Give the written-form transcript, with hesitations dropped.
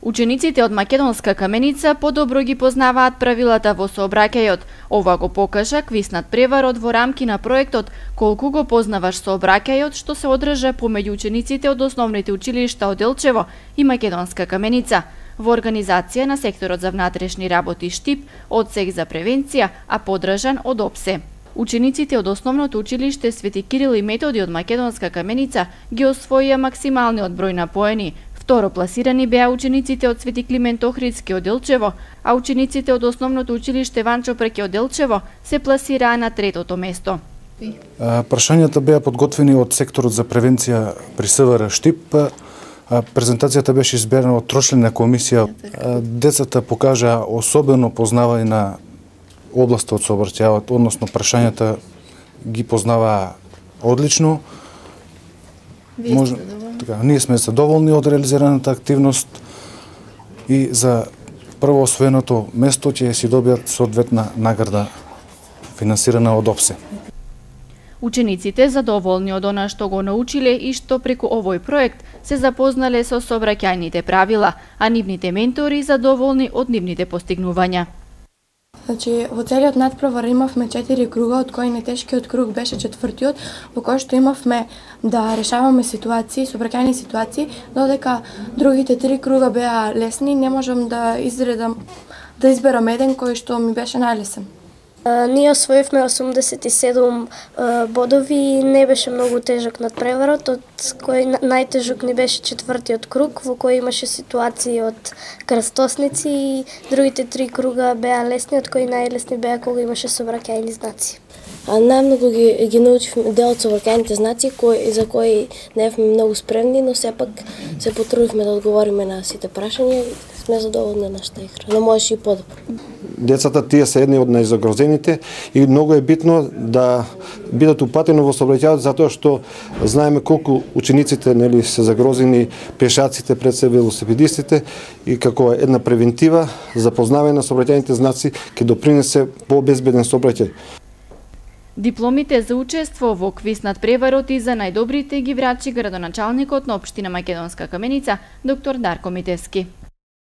Учениците од Македонска Каменица подобро ги познаваат правилата во сообраќајот. Ова го покажа квиз над преварот во рамки на проектот "Колку го познаваш сообраќајот", што се одржа помеѓу учениците од основните училишта од Делчево и Македонска Каменица во организација на секторот за внатрешни работи Штип, одсек за превенција, а подржан од ОПСЕ. Учениците од основното училиште Свети Кирил и Методи од Македонска Каменица ги освоија максималниот број на поени. Второ пласирани беа учениците од Свети Климент Охридски од Делчево, а учениците од основното училиште Ванчо Преке од Делчево се пласираа на третото место. Прашањата беа подготвени од секторот за превенција при СВР Штип. Презентацијата беше изберена од трочлена комисија. Децата покажаа особено познавање на областа од сообраќајот, односно прашањата ги познаваа одлично. Ние сме задоволни од реализираната активност и за прво освоеното место ќе си добијат соодветна награда финансирана од ОПСЕ. Учениците задоволни од она што го научиле и што преку овој проект се запознале со сообраќајните правила, а нивните ментори задоволни од нивните постигнувања. Значи, во целиот надпревар имавме 4 круга, од кои најтешкиот круг беше 4-тиот, во кој што имавме да решаваме ситуации, сообраќајни ситуации, додека другите 3 круга беа лесни, не можам да изберам еден кој што ми беше најлесен. Ние освоивме 87 бодови и не беше многу тежок надпреварот, од кој најтежок ни беше 4-тиот круг, во кој имаше ситуации од крстосници и другите 3 круга беа лесни, од кои најлесни беа кога имаше сообраќајни знаци. Најмногу ги научивме дел од сообраќајните знаци за кои не бевме многу спремни, но сепак се потрудивме да одговориме на сите прашања и сме задоволни на нашата игра, но можеше и подобро. Децата тие се едни од најзагрозените и многу е битно да бидат упатени во сообраќајот затоа што знаеме колку учениците се загрозени, пешаците, пред се велосипедистите, и како една превентива за познавање на сообраќајните знаци ќе допринесе по-безбеден сообраќај. Дипломите за учество во квиз над преварот и за најдобрите ги врачи градоначалникот на општина Македонска Каменица, доктор Дарко Митевски.